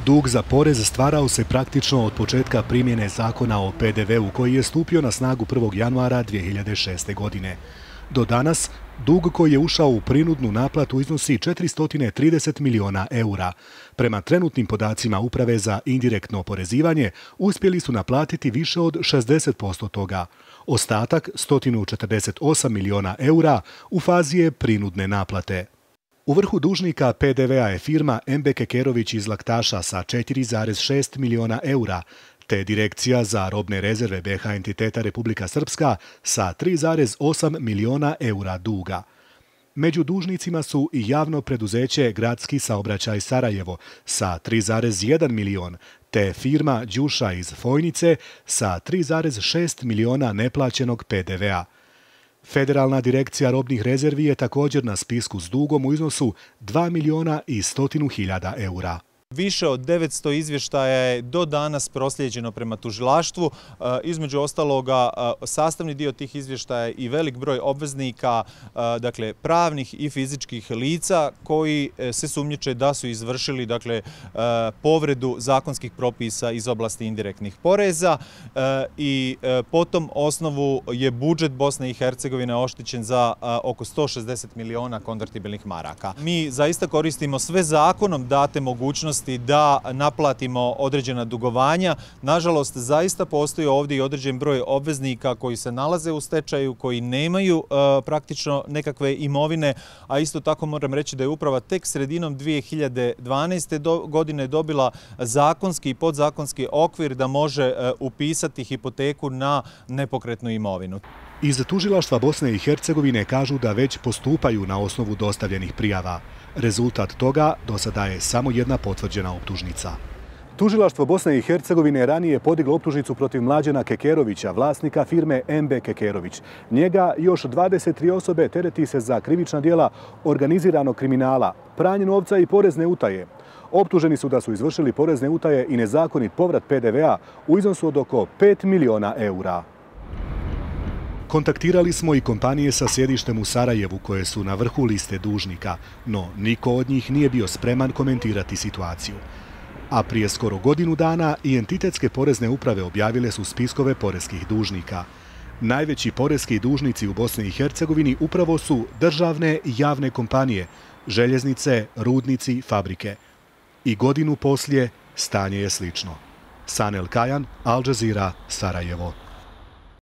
Dug za porez stvarao se praktično od početka primjene zakona o PDV-u koji je stupio na snagu 1. januara 2006. godine. Do danas, dug koji je ušao u prinudnu naplatu iznosi 430 miliona eura. Prema trenutnim podacima Uprave za indirektno oporezivanje, uspjeli su naplatiti više od 60% toga. Ostatak, 148 miliona eura, u fazi je prinudne naplate. U vrhu dužnika PDV-a je firma MB Kekerović iz Laktaša sa 4,6 miliona eura, te Direkcija za robne rezerve BiH entiteta Republika Srpska sa 3,8 miliona eura duga. Među dužnicima su i javno preduzeće Gradski saobraćaj Sarajevo sa 3,1 milion, te firma Đuša iz Fojnice sa 3,6 miliona neplaćenog PDV-a. Federalna direkcija robnih rezervi je također na spisku s dugom u iznosu 2 miliona i 100.000 eura. Više od 900 izvještaja je do danas proslijeđeno prema tužilaštvu. Između ostaloga, sastavni dio tih izvještaja i velik broj obveznika, dakle pravnih i fizičkih lica koji se sumnjiče da su izvršili povredu zakonskih propisa iz oblasti indirektnih poreza i po tom osnovu je budžet Bosne i Hercegovine oštećen za oko 160 miliona konvertibilnih maraka. Mi zaista koristimo sve zakonom date mogućnosti da naplatimo određena dugovanja. Nažalost, zaista postoji ovdje i određen broj obveznika koji se nalaze u stečaju, koji nemaju praktično nekakve imovine, a isto tako moram reći da je uprava tek sredinom 2012. godine dobila zakonski i podzakonski okvir da može upisati hipoteku na nepokretnu imovinu. Iz tužilaštva Bosne i Hercegovine kažu da već postupaju na osnovu dostavljenih prijava. Rezultat toga do sada je samo jedna potvrđena optužnica. Tužilaštvo Bosne i Hercegovine ranije podiglo optužnicu protiv Mlađana Kekerovića, vlasnika firme MB Kekerović. Njega i još 23 osobe tereti se za krivična djela organiziranog kriminala, pranje novca i porezne utaje. Optuženi su da su izvršili porezne utaje i nezakonit povrat PDV-a u iznosu od oko 5 miliona eura. Kontaktirali smo i kompanije sa sjedištem u Sarajevu koje su na vrhu liste dužnika, no niko od njih nije bio spreman komentirati situaciju. A prije skoro godinu dana i entitetske porezne uprave objavile su spiskove poreskih dužnika. Najveći poreski dužnici u Bosni i Hercegovini upravo su državne i javne kompanije, željeznice, rudnici, fabrike. I godinu poslije stanje je slično. Sanel Kajan, Al Jazeera, Sarajevo.